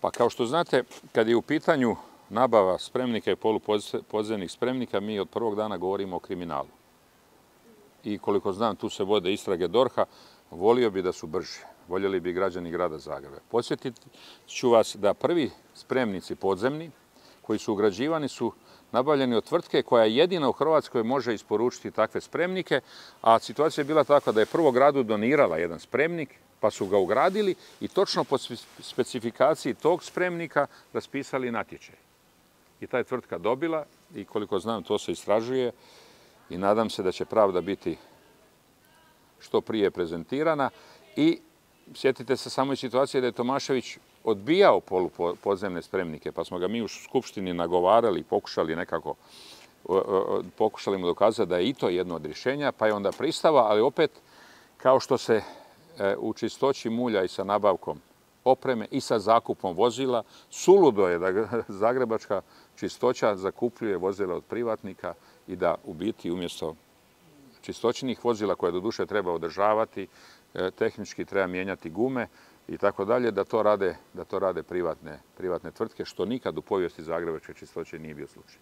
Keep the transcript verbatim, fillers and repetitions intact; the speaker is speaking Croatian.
Pa kao što znate, kad je u pitanju nabava spremnika i polupodzemnih spremnika, mi od prvog dana govorimo o kriminalu. I koliko znam, tu se vode istrage DORH-a, volio bi da su brži. Voljeli bi građani grada Zagreba. Podsjetit ću vas da prvi spremnici podzemni koji su ugrađivani su nabavljeni od tvrtke koja jedina u Hrvatskoj može isporučiti takve spremnike, a situacija je bila takva da je prvo gradu donirala jedan spremnik, pa su ga ugradili i točno po specifikaciji tog spremnika raspisali natječaj. I ta je tvrtka dobila i koliko znam to se istražuje i nadam se da će pravda biti što prije prezentirana. I sjetite se samo i situacije da je Tomašević odbijao polupodzemne spremnike, pa smo ga mi u Skupštini nagovarali i pokušali nekako pokušali mu dokazati da je i to jedno od rješenja, pa je onda pristava, ali opet kao što se u čistoći mulja i sa nabavkom opreme i sa zakupom vozila, suludo je da zagrebačka čistoća zakupljuje vozila od privatnika i da u biti umjesto čistoćinih vozila koje doduše treba održavati, tehnički treba mijenjati gume i tako dalje, da to rade, da to rade privatne, privatne tvrtke, što nikad u povijesti zagrebačke čistoće nije bio slučaj.